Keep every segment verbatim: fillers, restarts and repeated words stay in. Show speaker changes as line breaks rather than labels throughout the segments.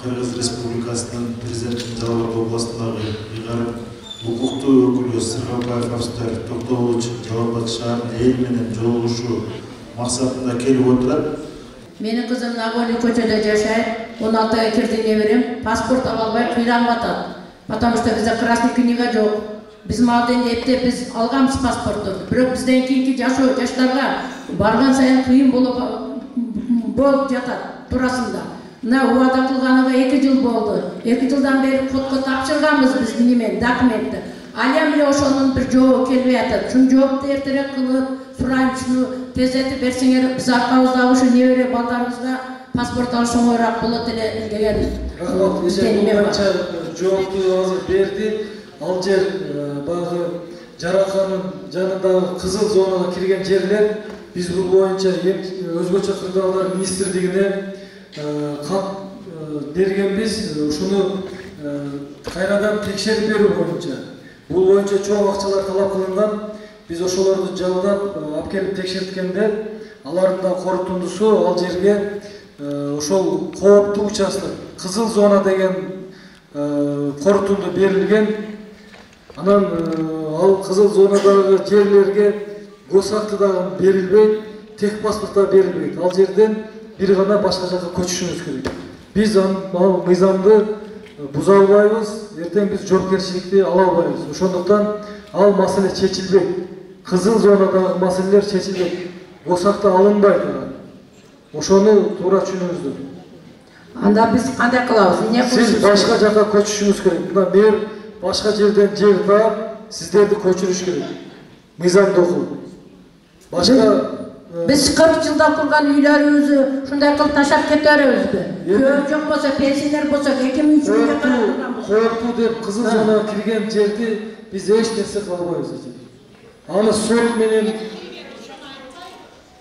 Кыргыз Республикасынын президентinin Жалал Абад областындагы ыйгарым укуктуу өкүлү Сыргабаев Австар Токтогулович Жалал Абад шаарынын эл менен жолугушуу максатында келип отурат.
Менин кызым Нагорный көчөдө жашайт. он алтыга кирди неберем. Паспорт ала албай кыйналып атат. Потому что бизде красный книга жок. Биз маден эптеп биз алганбыз паспортторду. Бирок бизден кийинки жашоо жаштарга барган сайын кыйын болуп болуп жатат туурасында. Мына убада кылганга эки жыл болду. эки жылдан бери кодко тапшырганбыз биз немен документти. Алем эле ошонун бир жообу келбей атат. Ушун жоопду эртерээк кылып, сурайм ушуну тездетип берсеңер, биз аркабызда ушу небере балдарыбызга паспорт алыш оңоюраак болот эле деген.
Рахмат, эже боюнча жоопту азыр берди. Ал жер баягы жараканын жанындагы кызыл зонага кирген жерлер биз бул боюнча өзгөчө кырдаалар министрлигине кат бергенбиз. Ушуну кайрадан текшерип берүү боюнча. Бул боюнча чоң акчалар талап кылынган. Биз ошолорду жалдап алып келип текшерткенде алардын да корутундусу ал жерге ошол кооптуу участок кызыл зона деген корутунду берилген. Анан ал кызыл зонадагы жерлерге госакты дагы берилбейт, тех паспорт да берилбейт. Ал жерден бир гана башка жакка көчүшүбүз керек. Биз ал мыйзамды буза албайбыз, эртең биз жоопкерчиликти ала албайбыз. Ошондуктан ал маселе чечилбейт. Кызыл зонадагы маселелер чечилбейт. Госакта алынбайт. Ошону туура түшүнүңүздөр.
Анда биз кандай кылабыз? Эмне кылабыз?
Сиз башка жакка көчүшүңүз керек. Мына мэр башка жерден жер таап, сиздерди көчүрүш керек. Мыйзамды окуп. Башка
биз кырк жылда курган үйлөрүбүздү ушундай кылып таштап кете беребизби? Көө жок болсо, пенсионер болсо, эки миң үч миңге карап
кооптуу деп кызыл зонага кирген жерди биз эч нерсе кыла албайбыз. Аны сот менен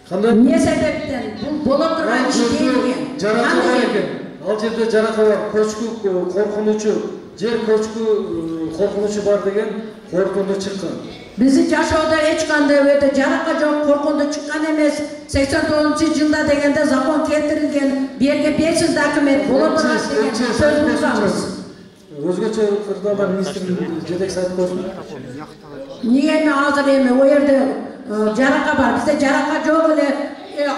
кандай
эмне себептен бул боло турган иш дейбизби?
Жарака бар экен. Ал жерде жарака бар, көчкү коркунучу, жер көчкү коркунучу бар деген коркунду чыккан.
Биздин жашоодо эч кандай өтө жарака жок, коркунду чыккан эмес. сексен тогузунчу жылда дегенде закон келтирилген, берге бешсиз документ боло турат деген сөз булганбыз.
Өзгөчө кырдаалар министрлигинин жетекчиси айтып койсун.
Эмне эми азыр эми о жерде жарака бар, бизде жарака жок эле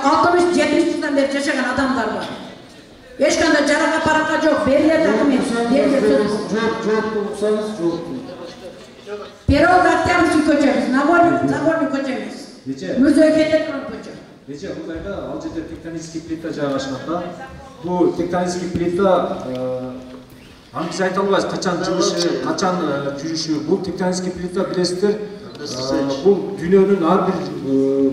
алтымыш жетимиш жылдан бери жашаган адамдар бар. Эч кандай жарака парака жок, берилет документ, берилет сөз.
Жок, жок, уксаңыз жок.
Первый Октябрьский көчөбүз, Нагорный, Нагорный көчөбүз. Музей кете турган көчө.
Нече мындайда ал жерде тектонический плита жайгашканда, бул тектонический плита аны биз айта албайбыз качан жылышы, качан жүрүшү. Бул тектонический плита билесиздер, бул дүйнөнүн ар бир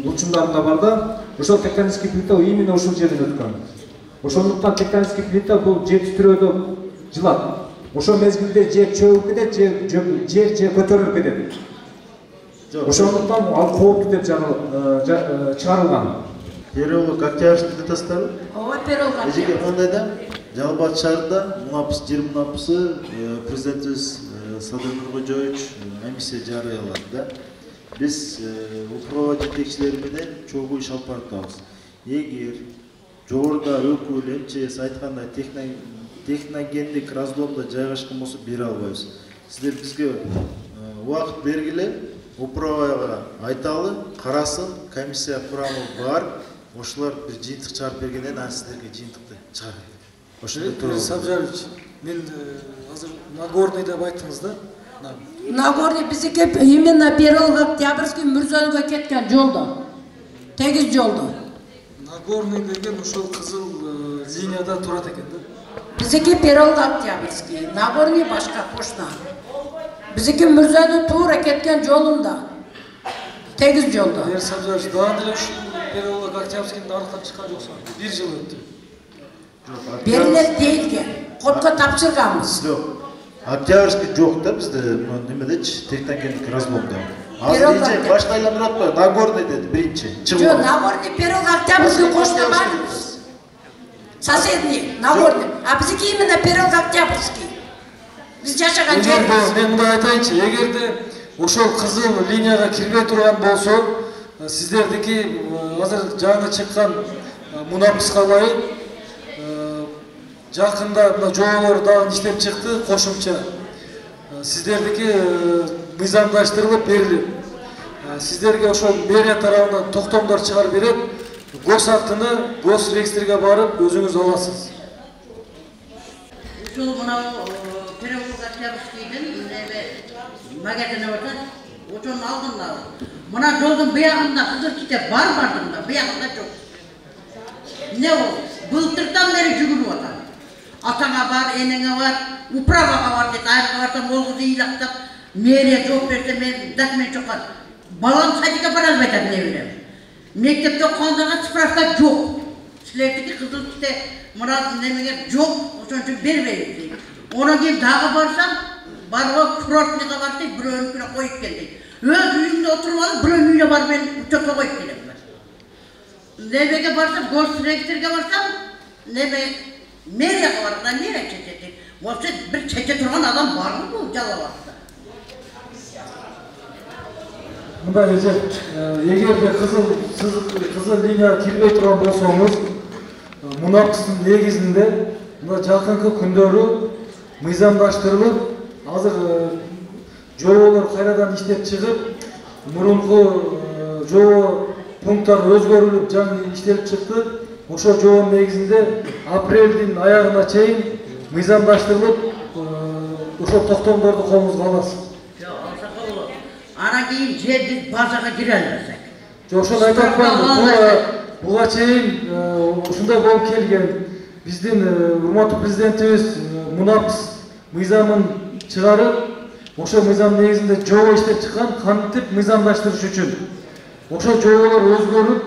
бурчундарында бар да. Ошол тектонический плита именно ушул жерден өткөн. Ошондуктан тектонический плита бул жер титирөөдө жылат. Ошол мезгилде жер чөгүп кетет, жер жер жер көтөрүлүп кетет. Ошондуктан ал кооптуу деп чыгарылган.
Переулок Октябрьский плитасыбы?
Ооба, переулок Октябрьский.
Эжеге мындай да, Жалал Абад шаарында мунапыс жер мунапысы президентибиз Садыр Нуркожоевич эмиссия жарыялады да. Биз управа жетекчилери менен чогуу иш алып баратабыз. Эгер жогоруда өкүл МЧС айткандай техногендик раздомдо жайгашкан болсо бере албайбыз. Сиздер бизге убакыт бергиле, управага айталы, карасын, комиссия курамы бар. Ошолор бир жыйынтык чыгарып бергенден анан сиздерге жыйынтыкты чыгарат. Ошондой турат.
Сабжарович, мен азыр Нагорный деп айттыңыз да?
Нагорный биздики именно переулок Октябрьский Мурзоновго кеткен жолдо. Тегиз жолдо.
Нагорный деген ошол кызыл линияда турат экен да?
Биздики переулок Октябрьский, Нагорный башка кошна. Биздики Мурзонов туура кеткен жолунда. Тегиз жолдо.
Мэр Сабжарович, дагы деле ушул переулок Октябрьскийдин аркан чыккан жоксуң. Бир жыл өттү.
Берилет дейилген. Кодко тапшырганбыз.
Жок. Октябрьский жок да бизде немедечи техногендик разломдо. Азыр эже башка айландырып атпайбы? Нагорный деди биринчи.
Жок, Нагорный переулок Октябрьский кошна барбыз. Соседний Нагорный. А биздики именно переулок Октябрьский. Биз жашаган жерибиз.
Мен мындай айтайынчы, эгерде ошол кызыл линияга кирбей турган болсо, сиздердики азыр жаңы чыккан мунапыска ылайык жакында мына жоболор дагы иштеп чыкты, кошумча. Сиздердики мыйзамдаштырылып берилип, сиздерге ошол мэрия тарабынан токтомдор чыгарып берет. Гос актыны гос реестрге барып өзүңүз аласыз.
Ушул мына Перевозчиевскийдин неме магазини бар. Ошонун алдында. Мына жолдун буягында кызыл китеп бар бардыгында, буягында жок. Не ол? Былтырдан бери жүгүрүп атат. Атаңа бар, энеңе бар, управага бар дейт. Айрга барсам ол кызды ыйлактап, мэрия жооп берсе мен документ жокка. Балам садикке бара албайт эмне билем. Мектепте окугандарға справка жок. Силердики кызыл китеп мына немеге жок, ошон үчүн бербейбиз дейт. Онан кийин дагы барсам, барып курортныйга бардык, бирөөнүкүнө коюп келдик. Өз үйүңдө отуруп алып, бирөөнүн үйүнө барып мен учетко коюп келем. Немеге барсам, госреестрге барсам, неме мэрияга барганда мэрия чечет. Ошо бир чече турган адам барбы бул Жалал-Абадта?
Мындай эже, эгерде кызыл кызыл линияга кирбей турган болсоңуз, мунапстын негизинде мына жакынкы күндөрү мыйзамдаштырылып, азыр жоболор кайрадан иштеп чыгып, мурунку жобо пункттар өзгөрүлүп, жаңы иштелип чыкты. Ошол жобонун негизинде апрелдин аягына чейин мыйзамдаштырылып, ошол токтомдорду колуңузга аласыз.
Анан кийин же биз базага кире албасак.
Жок, ошону айтып атпаймынбы. Буга чейин ушундай болуп келген. Биздин урматтуу президентибиз мунапс мыйзамын чыгарып, ошол мыйзам негизинде жобо иштеп чыккан, кантип мыйзамдаштырыш үчүн. Ошол жоболор өзгөрүп,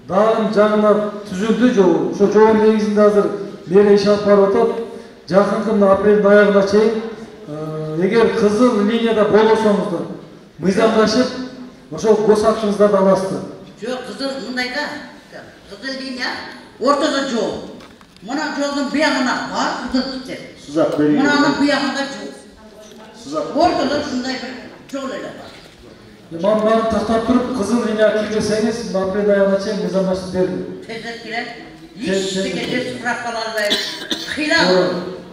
дагы жаңына түзүлдү жобо. Ошол жобонун негизинде азыр мэрия иш алып барып атат. Жакынкы мына апрелдин аягына чейин эгер кызыл линияда болсоңуздар, мыйзамдашып, ошол гос актыңыздарды аласыздар.
Жок, кызыл мындай да. Кызыл линия ортодо жол. Мына жолдун буягына бар кызыл китеп.
Сузак берейин.
Мынанын буягында жол.
Сузак.
Ортодо ушундай бир жол эле бар.
Ман баарын тактап туруп, кызыл линияга кирбесеңиз, апрель аягына чейин мыйзамдашып берилет.
Тезек келет. Эчтеке справка албайт. Кыйла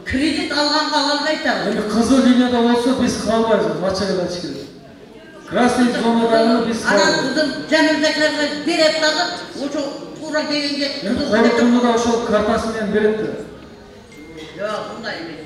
кредит алганга ала албайт да.
Эми кызыл линияда болсо биз калбайбыз, ачык эле айтыш керек. Красный зонадагы биз
анан кызыл жаныбектерге берет дагы, ошо туура дегенге
кызыл. Колтунда да ошол картасы менен берет да.
Жок, мындай эмес.